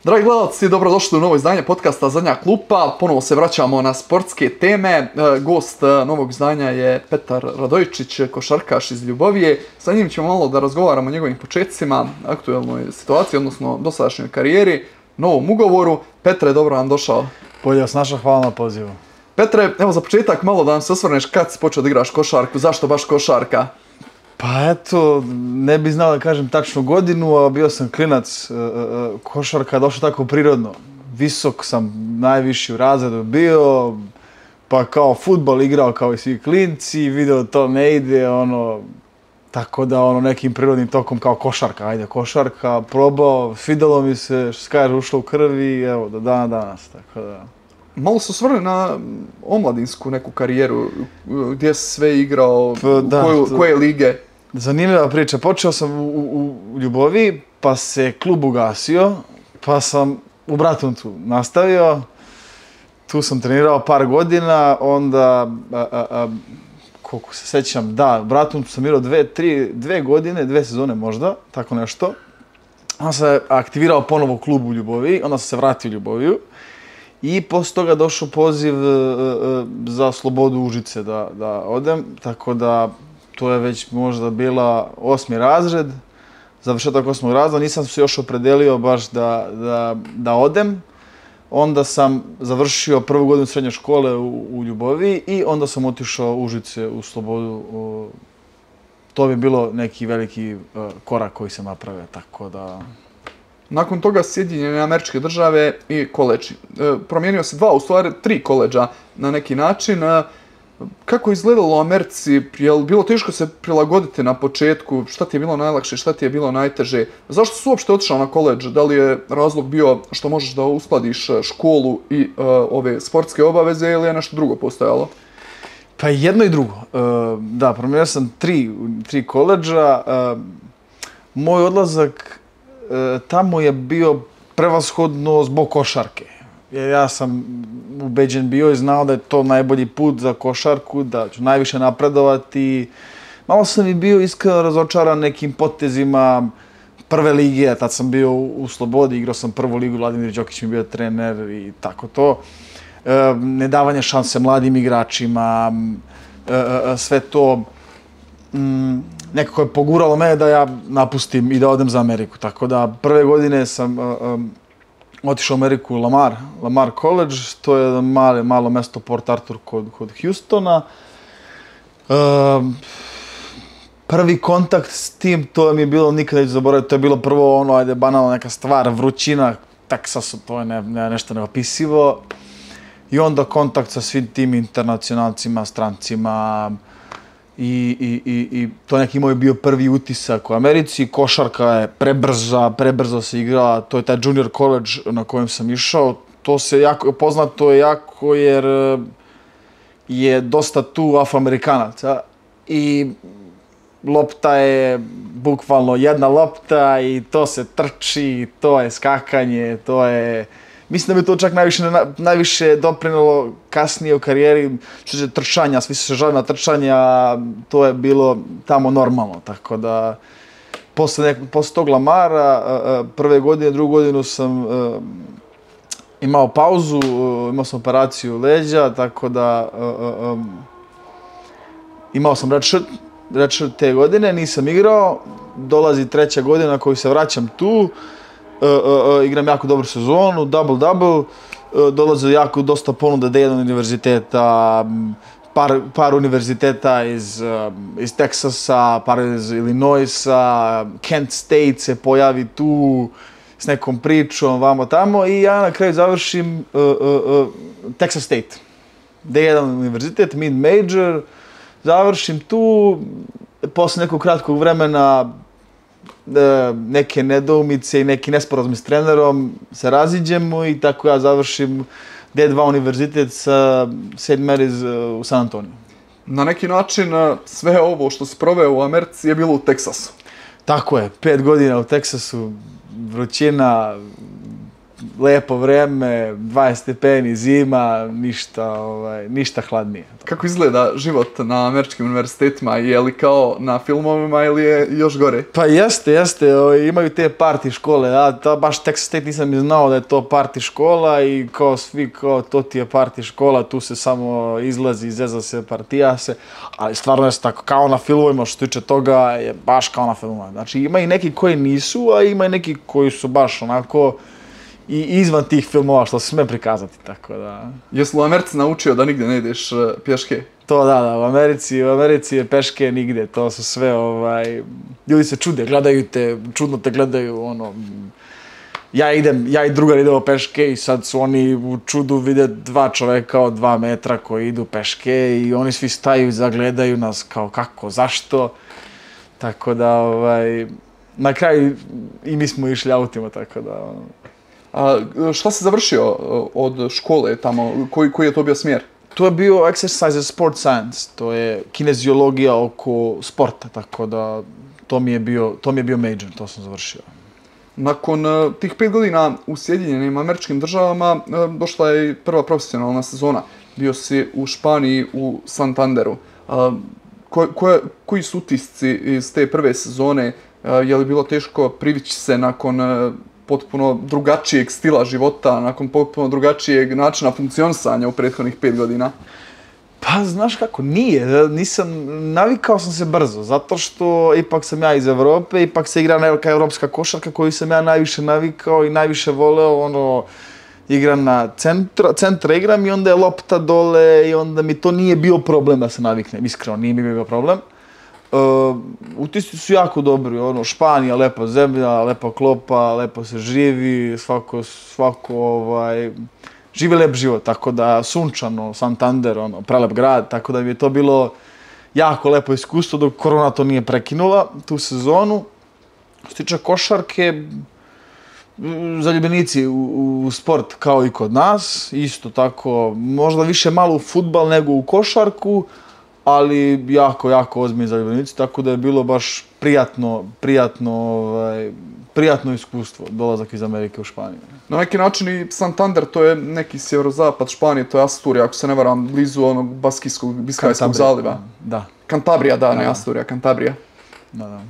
Dragi gledalci, dobrodošli u novo izdanje podcasta Zadnja klupa. Ponovo se vraćamo na sportske teme. Gost novog izdanja je Petar Radojičić, košarkaš iz Ljubovije. Sa njim ćemo malo da razgovaramo o njegovim početcima, aktuelnoj situaciji, odnosno dosadašnjoj karijeri, novom ugovoru. Petre, dobro nam došao. Bolje vas našao, hvala na pozivu. Petre, evo za početak malo da nam se osvrneš kad si počeo da igraš košarku, zašto baš košarka? Pa eto, ne bi znao da kažem tačnu godinu, a bio sam klinac, košarka je došla tako prirodno. Visok sam najviši u razredu bio, pa kao fudbal igrao kao i svi klinci, video to ne ide, tako da nekim prirodnim tokom kao košarka, ajde košarka, probao, svidjelo mi se, što se kaže, ušlo u krvi i evo, do dana danas, tako da. Malo se osvrne na omladinsku neku karijeru, gdje si sve igrao, koje lige? Zanimljiva priča. Počeo sam u Ljubovi, pa se klub ugasio, pa sam u Bratuncu nastavio. Tu sam trenirao par godina, onda, koliko se sjećam, da, u Bratuncu sam igrao dve godine, 2 sezone možda, tako nešto. Onda se aktivirao ponovo klub u Ljubovi, onda sam se vratio u Ljuboviju. I poslije toga došao poziv za Slobodu Užice da odem, tako da to je već možda bila 8. razred, završetak 8. razreda, nisam se još opredelio baš da odem. Onda sam završio prvu godinu srednje škole u Ljubovi i onda sam otišao u Užice u Slobodu. To bi bilo neki veliki korak koji sam napravio, tako da. Nakon toga Sjedinjene Američke Države i koledži. Promijenio se 3 koledža na neki način. Kako je izgledalo u Americi? Je li bilo teško se prilagoditi na početku? Šta ti je bilo najlakše, šta ti je bilo najteže? Zašto si uopšte otišao na koledž? Da li je razlog bio što možeš da uskladiš školu i ove sportske obaveze ili je nešto drugo postojalo? Pa jedno i drugo. Da, promijenio sam 3 koledža. Moj odlazak tamo je bio prevashodno zbog košarke. Ja sam ubeđen bio i znao da je to najbolji put za košarku, da ću najviše napredovati. Malo sam i bio iskreno razočaran nekim potezima prve lige, tad sam bio u Slobodi, igrao sam prvu ligu, Vladimir Đokić mi bio trener i tako to. Nedavanje šanse mladim igračima, sve to nekako je poguralo mene da ja napustim i da odem za Ameriku. Tako da prve godine sam otišao u Ameriku u Lamar College, to je malo mesto Port Arthur kod Houstona. Prvi kontakt s tim, to mi je bilo nikada neću zaboraviti, to je bilo prvo ajde banalna neka stvar, vrućina, Teksasu, to je nešto neopisivo. I onda kontakt sa svim tim internacionalcima, strancima, i to neki moj bio prvi utisak u Americi. Košarka je prebrzo se igrala, to je taj junior college na kojem sam išao. To se poznato je jako jer je dosta tu Afroamerikanaca i lopta je bukvalno jedna lopta i to se trči, to je skakanje, to je. Mislim da bi to čak najviše doprinelo kasnije u karijeri, što se trčanja, svi su se žali na trčanja, to je bilo tamo normalno, tako da posle tog Lamara, prve godine, drugu godinu sam imao pauzu, imao sam operaciju leđa, tako da imao sam redshirt te godine, nisam igrao, dolazi 3. godina na koju se vraćam tu. Igram jako dobru sezonu, double-double, dolaze dosta ponuda D1 univerziteta, par univerziteta iz Teksasa, par iz Illinoisa, Kent State se pojavi tu s nekom pričom, vamo tamo i ja na kraju završim Texas State. D1 univerzitet, mid-major, završim tu, posle nekog kratkog vremena neke nedoumice i neki nesporazumi s trenerom se raziđemo i tako ja završim D2 univerzitet sa St. Mary's u San Antoniju. Na neki način sve ovo što si proveo u Americi je bilo u Teksasu. Tako je, 5 godina u Teksasu, vrućina, lepo vreme, 20 stepeni, zima, ništa hladnije. Kako izgleda život na američkim univerzitetima? Je li kao na filmovima ili je još gore? Pa jeste, imaju te party škole, baš Texas State nisam ni znao da je to party škola i kao svi, kao to ti je party škola, tu se samo izlazi, izeza se, partija se, ali stvarno je tako, kao na filmovima, što se tiče toga je baš kao na filmovima. Znači ima i neki koji nisu, a ima i neki koji su baš onako i izvan tih filmova što se sme prikazati, tako da... Jesi u Americi naučio da nigdje ne ideš pješke? To da, u Americi je peške nigdje, to su sve, ljudi se čude, gledaju te, čudno te gledaju, ja i drugar idemo peške i sad su oni u čudu vide dva čoveka od 2 metra koji idu peške i oni svi staju, zagledaju nas kao kako, zašto, tako da, na kraju i mi smo išli autima, tako da... A šta si završio od škole tamo? Koji je to bio smjer? To je bio exercise and sport science, to je kineziologija oko sporta, tako da to mi je bio major, to sam završio. Nakon tih 5 godina u Sjedinjenim Američkim Državama došla je i prva profesionalna sezona. Bio si u Španiji u Santanderu. Koji su utisci iz te prve sezone? Je li bilo teško privići se nakon potpuno drugačijeg stila života, nakon potpuno drugačijeg načina funkcionisanja u prethodnih 5 godina? Pa, znaš kako, nije. Navikao sam se brzo, zato što ipak sam ja iz Evrope, ipak se igra neka evropska košarka koju sam ja najviše navikao i najviše voleo, igram na centra igram i onda je lopta dole i onda mi to nije bio problem da se naviknem, iskreno, nije mi bio problem. Utisci su jako dobri, Španija, lepa zemlja, lepa klopa, lepo se živi, svako živi lep život, tako da sunčano, Santander, prelep grad, tako da mi je to bilo jako lepo iskustvo dok korona to nije prekinula, tu sezonu. Što se tiče košarke, zaljubljenici u sport kao i kod nas, isto tako, možda više malo u fudbal nego u košarku, ali jako ozbiljni zaljubljenici, tako da je bilo baš prijatno iskustvo, dolazak iz Amerike u Španiju. Na neki način i Santander, to je neki sjeverozapad Španije, to je Asturija, ako se ne varam, blizu onog Biskajskog zaliva. Da. Cantabria, da, ne Asturija, Cantabria. Da.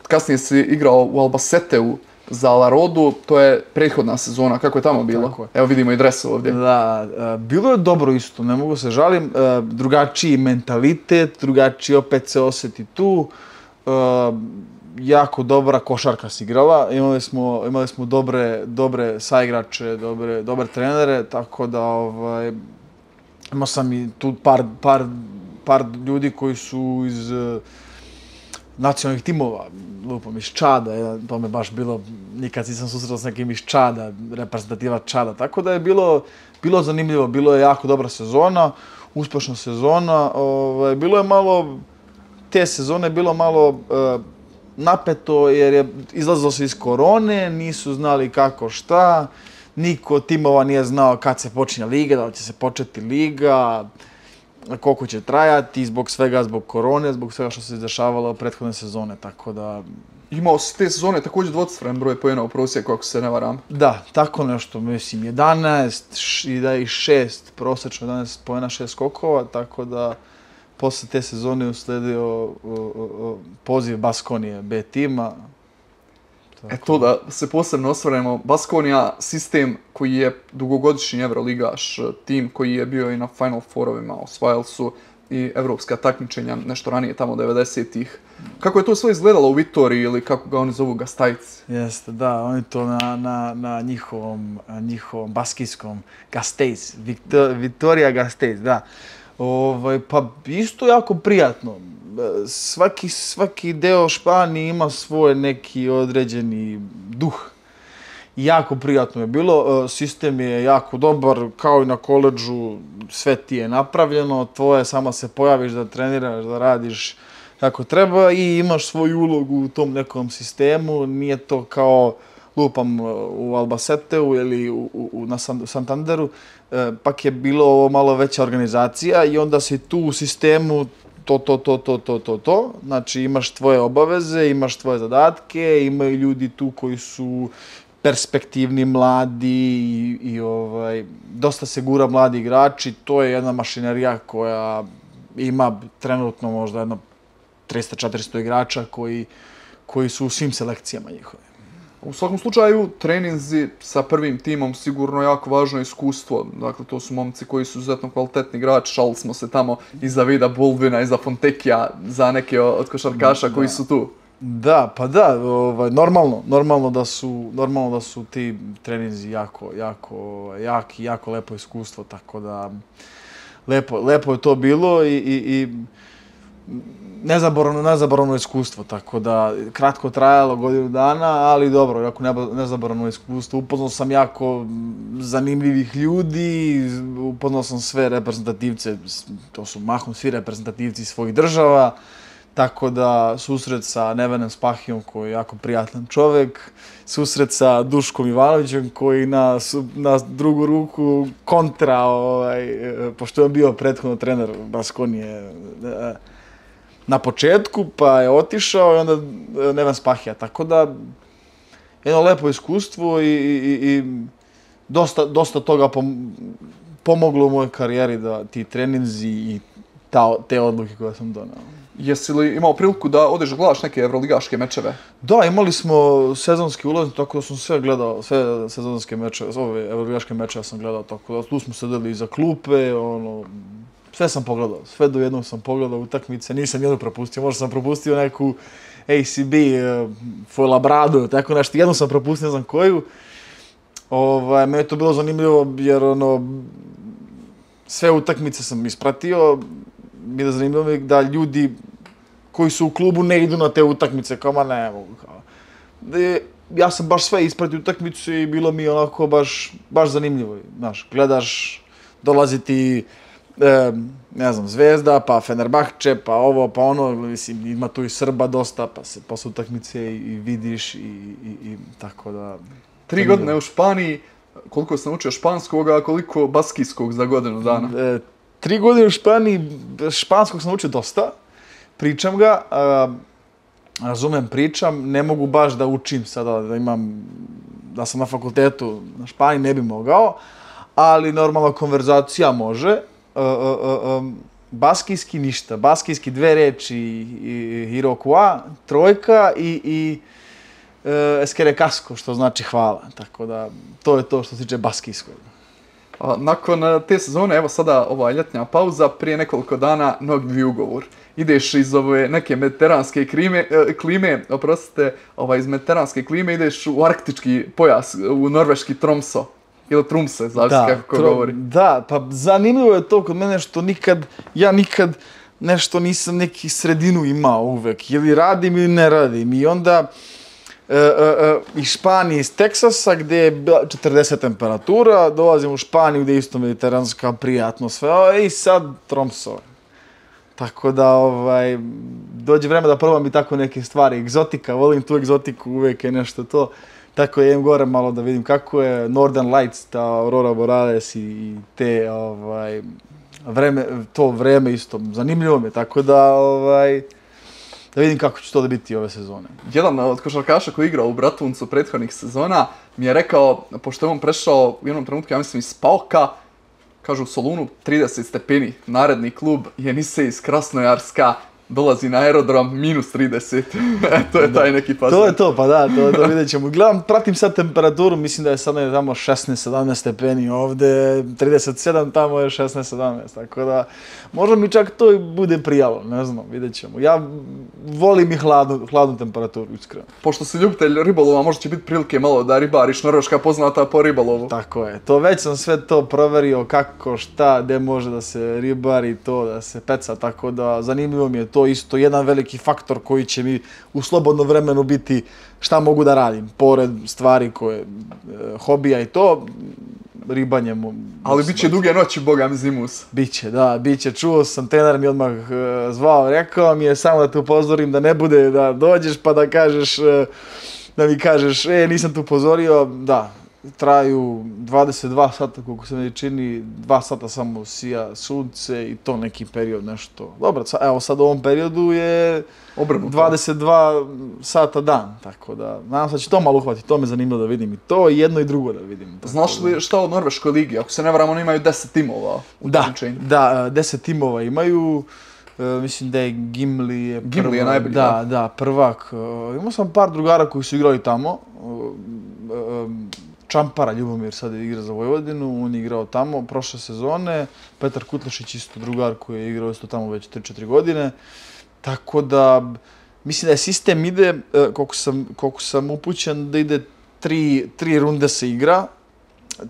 Kasnije si igrao u Albaceteu za La Rodu, to je prethodna sezona, kako je tamo bilo? Tako je. Evo vidimo i dres ovdje. Da, bilo je dobro isto, ne mogu se žalim, drugačiji mentalitet, drugačiji opet se osjeti tu, jako dobra košarka se igrala, imali smo dobre saigrače, dobre trenere, tako da imao sam i tu par ljudi koji su iz nacionalnih timova, lupom iz Čada, to me baš bilo, nikad nisam susretao s nekim iz Čada, reprezentativa Čada, tako da je bilo zanimljivo, bilo je jako dobra sezona, uspješna sezona, bilo je malo, te sezone je bilo malo napeto jer je izlazilo se iz korone, nisu znali kako šta, niko od timova nije znao kad se počinje liga, da li će se početi liga, koliko će trajati, zbog korone, zbog svega što se izdešavalo prethodne sezone, tako da... Imao si te sezone također dvocifren broj poena u prosjeku, ako se ne varam. Da, tako nešto, mislim, 11 i da i 6, prosječno 11 poena, 6 skokova, tako da posle te sezone usledio poziv Baskonije B tima. To da se posebno osvrnemo, Baskonija, sistem koji je dugogodišnji evroligaš, tim koji je bio i na Final Fourovima, osvajali su i evropska takmičenja nešto ranije, tamo 90-ih. Kako je to sve izgledalo u Vitoriji ili kako ga oni zovu, Gasteiz? Jeste, da, oni to na njihovom baskijskom Gasteiz, Vitorija Gasteiz, da. Pa isto jako prijatno. Svaki deo Španije ima svoj neki određeni duh. Jako prijatno je bilo, sistem je jako dobar, kao i na koledžu, sve ti je napravljeno, tvoje samo se pojaviš da treniraš, da radiš kako treba i imaš svoju ulogu u tom nekom sistemu, nije to kao lupam u Albaceteu ili na Santanderu, pak je bilo ovo malo veća organizacija i onda si tu u sistemu to. Znači imaš tvoje obaveze, imaš tvoje zadatke, imaju ljudi tu koji su perspektivni, mladi i dosta se gura mladi igrači. To je jedna mašinerija koja ima trenutno možda jedno 300-400 igrača koji su u svim selekcijama njihove. U svakom slučaju, treninzi sa prvim timom sigurno jako važno iskustvo. Dakle, to su momci koji su izuzetno kvalitetni igrači. Šalili smo se tamo i za Vida Buldvina i za Fontekija, za neke od košarkaša koji su tu. Da, pa da, normalno da su ti treninzi jako lepo iskustvo, tako da lepo je to bilo i nezaboravno iskustvo, tako da kratko trajalo, godinu dana, ali dobro, jako nezaboravno iskustvo. Upoznao sam jako zanimljivih ljudi, upoznao sam sve reprezentativce, to su mahom svi reprezentativci svojih država, tako da susret sa Nevenem Spahijom koji je jako prijatan čovjek, susret sa Duškom Ivanovićem koji na drugu ruku kontra, pošto je bio prethodno trener Baskonije na početku, pa je otišao i onda Neven Spahija. Tako da, jedno lepo iskustvo i dosta toga pomoglo u mojoj karijeri da ti treninzi i te odluke koje sam donao. Jesi li imao priliku da odeš gledaš neke evroligaške mečeve? Da, imali smo sezonski ulaz, tako da sam sve gledao, sve sezonske mečeve, ove evroligaške mečeve sam gledao, tako da tu smo sedeli iza klupe, sve sam pogledao, sve do jednog sam pogledao utakmice, nisam jednu propustio, možda sam propustio neku ACB, Fuenlabradu, tako nešto, jednu sam propustio, ne znam koju. Meni je to bilo zanimljivo jer sve utakmice sam ispratio, mi je zanimljivo da ljudi koji su u klubu ne idu na te utakmice, kao ma ne mogu. Ja sam baš sve ispratio utakmicu i bilo mi onako baš zanimljivo. Znaš, gledaš, dolazi ti ne znam, Zvezda, pa Fenerbahče, pa ovo, pa ono, mislim, ima tu i Srba dosta, pa se posle utakmice i vidiš i tako da... 3 godine u Španiji, koliko sam naučio španskog, a koliko baskijskog za godinu dana? 3 godine u Španiji, španskog sam naučio dosta, pričam ga, razumem, pričam, ne mogu baš da učim sada, da sam na fakultetu na Španiji, ne bi mogao, ali normalna konverzacija može. Baskijski ništa, baskijski 2 reči, Iroquois, trojka i Esquerre što znači hvala, tako da to je to što se tiče baskijskog. Nakon te sezone, evo sada ova ljetnja pauza, prije nekoliko dana novi ugovor. Ideš iz ove neke mediteranske klime, iz mediteranske klime ideš u arktički pojas, u norveški Tromso. Ili Trumse, zavisi kako ko govori. Da, pa zanimljivo je to kod mene što ja nikad nešto nisam neki sredinu imao uvek. Ili radim ili ne radim. I onda iz Španije, iz Teksasa, gdje je 40 temperatura, dolazim u Španiju gdje je isto mediteranska, prijatno sve, i sad Tromso. Tako da, dođe vreme da probam i tako neke stvari. Egzotika, volim tu egzotiku, uvek je nešto to. Tako idem gore malo da vidim kako je Northern Lights, ta Aurora Borealis i te, to vreme isto, zanimljivo mi je, tako da vidim kako će to da biti ove sezone. Jedan od košarkaša koji je igrao u Bratuncu prethodnih sezona mi je rekao, pošto je on prešao u jednom trenutku, ja mislim iz Pauka, kažu u Solunu 30 stepeni, naredni klub Jenisej iz Krasnojarska, dolazi na aerodrom -30. To je taj neki fazon. To je to, pa da, to vidjet ćemo. Gledam, pratim sad temperaturu, mislim da je sad tamo 16-17 stepeni ovde, 37, tamo je 16-17, tako da možda mi čak to i bude prijalo, ne znam, vidjet ćemo. Ja volim i hladnu temperaturu, iskreno. Pošto si ljubitelj ribolova, možda će biti prilike malo da ribariš, Norveška poznata po ribolovu. Tako je, to već sam sve to proverio, kako, šta, gde može da se ribari, to da se peca, tako da zanimljivo mi je to isto jedan veliki faktor koji će mi u slobodnom vremenu biti šta mogu da radim, pored stvari koje, hobija i to, ribanje. Ali bit će duge noći, boga mi zimus. Biće, da, biće. Čuo sam, trener mi odmah zvao, rekao mi je samo da te upozorim da ne bude da dođeš pa da mi kažeš, nisam te upozorio, da. traju 22 sata, koliko se meni čini, 2 sata samo sija sunce i to neki period nešto. Dobro, evo sad u ovom periodu je Obrnuto. 22 sata dan, tako da nadam se da će to malo uhvatiti, to me zanimljivo da vidim i to, i jedno i drugo da vidim. Znaš li šta o Norveškoj ligi? Ako se ne varam, oni imaju 10 timova u takmičenju. Da, 10 timova imaju. Mislim da je Gimli je prvak. Gimli je najbolji, da, prvak. Imao sam par drugara koji su igrali tamo. Čampara Ljubomir sad igra za Vojvodinu, on je igrao tamo prošle sezone. Petar Kutlešić isto drugar koji je igrao isto tamo već 3-4 godine. Tako da, mislim da je sistem ide, koliko sam upućen, da ide 3 runde se igra.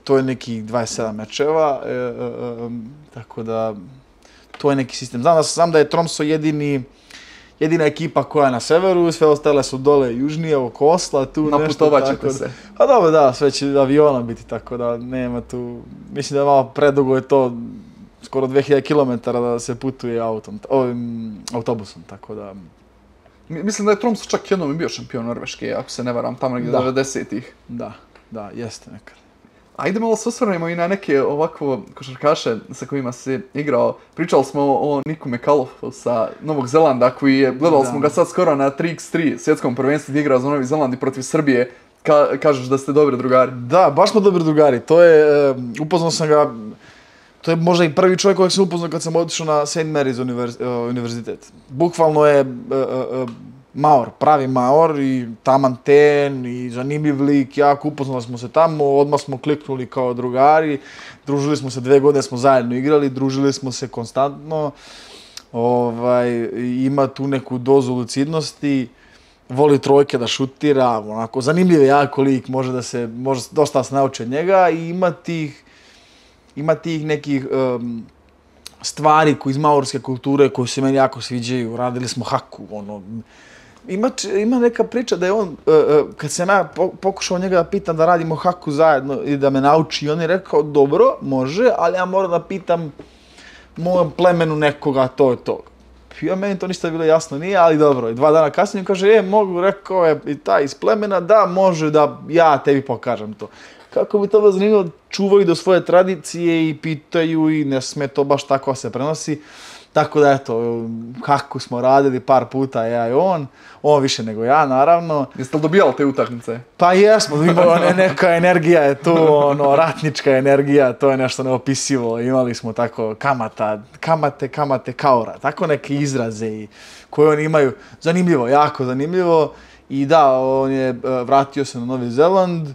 To je nekih 27 mečeva, tako da to je neki sistem. Znam da je Tromso jedina ekipa koja je na severu, sve ostale su dole južnije, oko Osla, tu nešto. Naputovat ćete se. Pa dobro, da, sve će aviona biti, tako da nema tu, mislim da je malo predugo je to, skoro 2000 km da se putuje autobusom, tako da. Mislim da je Tromso čak jednom bio šampion Norveške, ako se ne varam, tamo negdje 90-ih. Da, jeste nekad. Ajde malo se osvrnemo i na neke ovako košarkaše sa kojima si igrao. Pričali smo o Niku McAuliffu sa Novog Zelanda koji je, gledali smo ga sad skoro na 3x3 svjetskom prvenstvu gdje igrao za Novi Zeland i protiv Srbije. Kažeš da ste dobri drugari. Da, baš smo dobri drugari. To je, upoznao sam ga, to je možda i prvi čovjek kojeg sam upoznao kad sam otišao na St. Mary's univerzitet. Bukvalno je Maor, pravi Maor i taman ten i zanimljiv lik, jako upoznali smo se tamo, odmah smo kliknuli kao drugari, družili smo se 2 godine, smo zajedno igrali, družili smo se konstantno, ima tu neku dozu lucidnosti, voli trojke da šutira, onako, zanimljiv je jako lik, može dosta se nauči od njega i ima tih nekih stvari iz maorske kulture koje se meni jako sviđaju, radili smo haku, Ima neka priča da je on, kad sam ja pokušao njega da pitam da radimo haku zajedno i da me nauči, on je rekao, dobro, može, ali ja moram da pitam mojem plemenu nekoga, to je to. Ja, meni to ništa bilo jasno nije, ali dobro. I 2 dana kasnije kaže, mogu, rekao je i taj iz plemena, da, može da ja tebi pokažem to. Kako bi to bilo zanimljivo, čuvaju do svoje tradicije i pitaju i ne sme to baš tako se prenosi. Tako da, eto, kako smo radili par puta, ja i on više nego ja, naravno. Jeste li dobijali te utakmice? Pa jesmo, neka energija je tu, ratnička energija, to je nešto neopisivo. Imali smo tako kamate kaora, tako neke izraze koje oni imaju. Zanimljivo, jako zanimljivo. I da, on je vratio se na Novi Zeland.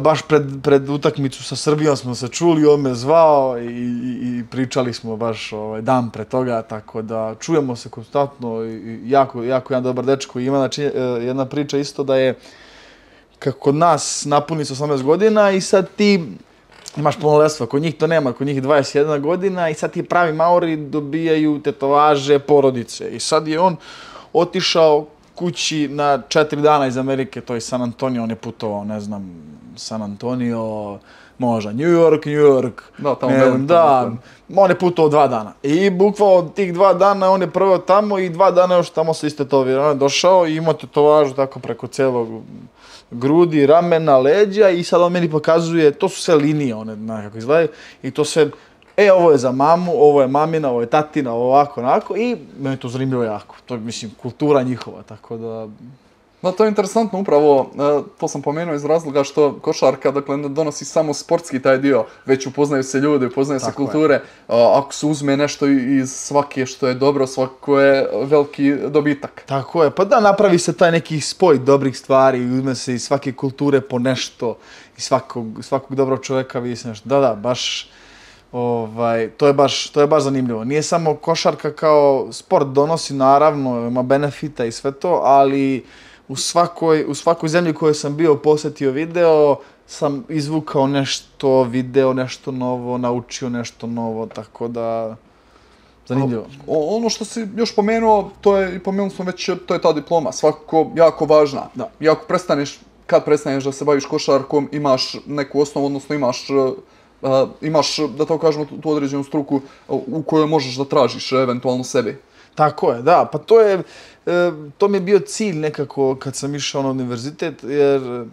Baš pred utakmicu sa Srbijom smo se čuli, on me zvao i pričali smo baš dan pre toga, tako da čujemo se konstantno i jako jedan dobar dečko. Ima jedna priča isto da je kako kod nas napuni se 18 godina i sad ti imaš punoletstvo, kod njih to nema, kod njih 21 godina i sad ti pravi Maori dobijaju tetovaže porodice i sad je on otišao kući na 4 dana iz Amerike, to je San Antonio, on je putovao, ne znam, San Antonio, možda New York. Da, tamo Wellington. On je putovao 2 dana. I bukvalno tih 2 dana on je proveo tamo i 2 dana još tamo se istetovirao. On je došao i imao tetovažu tako preko celog grudi, ramena, leđa i sad on meni pokazuje, to su sve linije one nekako izgledaju i to sve, ovo je za mamu, ovo je mamina, ovo je tatina, ovo ovako, onako i meni to zanimljivo jako. To je, mislim, kultura njihova, tako da. Da, to je interesantno upravo, to sam pomenuo iz razloga što košarka, dakle, ne donosi samo sportski taj dio, već upoznaju se ljudi, upoznaju se kulture. Ako se uzme nešto iz svake što je dobro, svako je veliki dobitak. Tako je, pa da, napravi se taj neki spoj dobrih stvari, uzme se iz svake kulture po nešto, iz svakog dobrog čovjeka vidi se nešto. Da, baš, to je baš zanimljivo. Nije samo košarka kao sport donosi, naravno, ima benefita i sve to, ali u svakoj zemlji koju sam bio posjetio video, sam izvukao nešto, video nešto novo, naučio nešto novo, tako da, zanimljivo. Ono što si još pomenuo, i pomenuli smo već, to je ta diploma, svakako jako važna. I ako kad prestaneš da se baviš košarkom, imaš neku osnovu, odnosno imaš, da tako kažemo, tu određenu struku u kojoj možeš da tražiš eventualno sebi. Tako je, da, pa to mi je bio cilj nekako kad sam išao na univerzitet, jer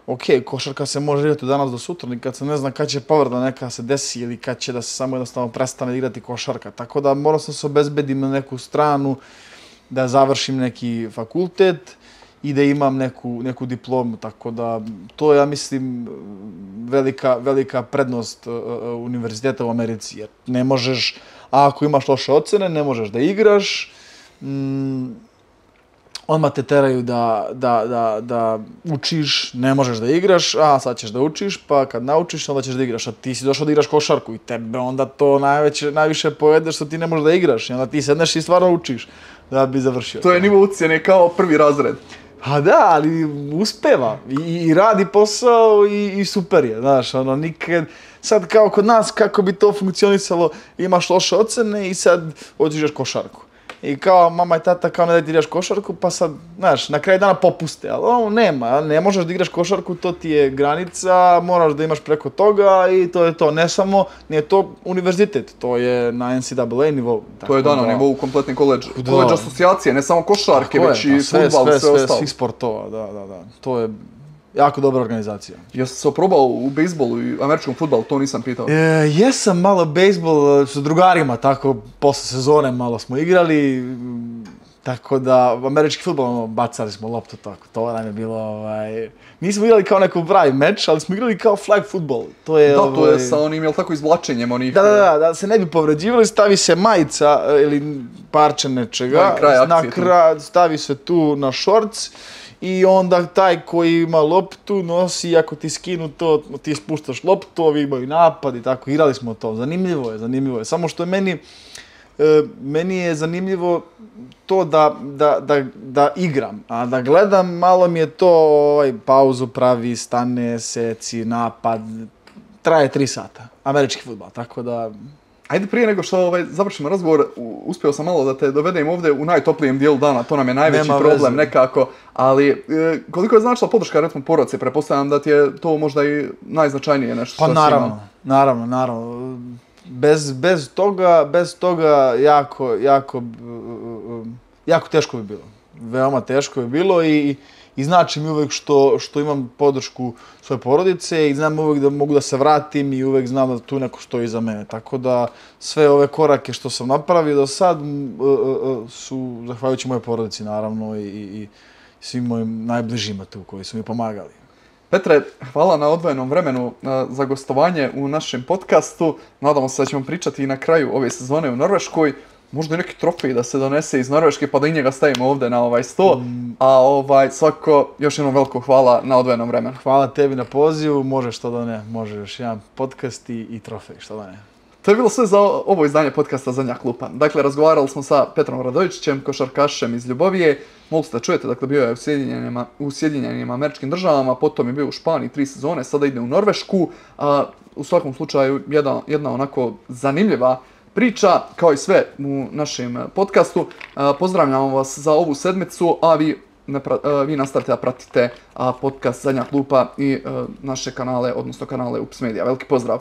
ok, košarka se može igrati od danas do sutra, nikad se ne zna kad će povreda neka se desi ili kad će da se samo jednostavno prestane igrati košarka. Tako da moram se obezbedim na neku stranu, da završim neki fakultet i da imam neku diplomu. Tako da to je, ja mislim, velika prednost univerziteta u Americi. Jer ne možeš, ako imaš loše ocene, ne možeš da igraš. Odmah te teraju da učiš, ne možeš da igraš, a sad ćeš da učiš, pa kad naučiš, onda ćeš da igraš, a ti si došao da igraš košarku i tebe onda to najviše pojede što ti ne možeš da igraš i onda ti sedneš i stvarno učiš da bi završio. To je nivo ucjene kao prvi razred. A da, ali uspeva i radi posao i super je, znaš, ono, nikad, sad kao kod nas, kako bi to funkcionisalo, imaš loše ocene i sad hoćeš košarku. I kao mama i tata kao ne da ti igraš košarku, pa sad, znaš, na kraju dana popuste, ali ovo nema, ne možeš da igraš košarku, to ti je granica, moraš da imaš preko toga i to je to, ne samo, nije to univerzitet, to je na NCAA nivou. To je na nivou kompletni koledž asocijacije, ne samo košarke, već i fudbal i sve ostalo. Svih sportova, da, to je jako dobra organizacija. Jesi se oprobao u bejsbolu i američkom fudbalu, to nisam pitao. Jesam malo bejsbol s drugarima, tako posle sezone malo smo igrali, tako da američki fudbal bacali smo loptu, tako, to nam je bilo, nismo igrali kao neko pravi meč, ali smo igrali kao flag fudbal. To je sa onim, jel tako, izvlačenjem onih... Da se ne bi povređivali, stavi se majica ili parče nečega, stavi se tu na šorc, i onda taj koji ima loptu nosi, ako ti skinu to, ti spuštaš loptu, ovi imaju napad i tako, igrali smo to. Zanimljivo je. Samo što je meni je zanimljivo to da igram, a da gledam, malo mi je to, pauzu pravi, stane, seci, napad, traje 3 sata, američki fudbal, tako da... Ajde, prije nego što završimo razgovor, uspio sam malo da te dovedem ovdje u najtoplijem dijelu dana, to nam je najveći problem nekako, ali koliko je značila podrška recimo porodice, pretpostavljam da ti je to možda i najznačajnije nešto što si imao. Pa naravno. Bez toga jako teško bi bilo. Veoma teško bi bilo i znači mi uvek što imam podršku svoje porodice i znam uvek da mogu da se vratim i uvek znam da tu neko stoji iza mene. Tako da sve ove korake što sam napravio do sad su zahvaljujući moje porodici naravno i svim mojim najbližima tu koji su mi pomagali. Petre, hvala na odvojenom vremenu za gostovanje u našem podcastu. Nadamo se da ćemo pričati i na kraju ove sezone u Norveškoj. Možda i neki trofej da se donese iz Norveške pa da i njega stavimo ovdje na ovaj sto. A svako, još jednom veliko hvala na odvojenom vremenu. Hvala tebi na pozivu, može što da ne, može još jedan podcast i trofej, što da ne. To je bilo sve za ovo izdanje podcasta Zadnja klupa. Dakle, razgovarali smo sa Petrom Radojičićem, košarkašem iz Ljubovije. Mogli ste da čujete, dakle, bio je u Sjedinjenim Američkim Državama, potom je bio u Španiji 3 sezone, sada ide u Norvešku. U svakom slučaju, jedna onako zanimljiva priča, kao i sve u našem podcastu. Pozdravljamo vas za ovu sedmicu, a vi nastavite da pratite podcast Zadnja klupa i naše kanale, odnosno kanale UPS Media. Veliki pozdrav!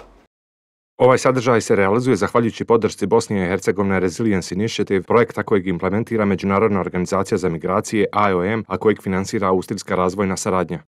Ovaj sadržaj se realizuje zahvaljujući podršci Bosne i Hercegovine Resilience Initiative, projekta kojeg implementira Međunarodna organizacija za migracije IOM, a kojeg finansira Austrijska razvojna saradnja.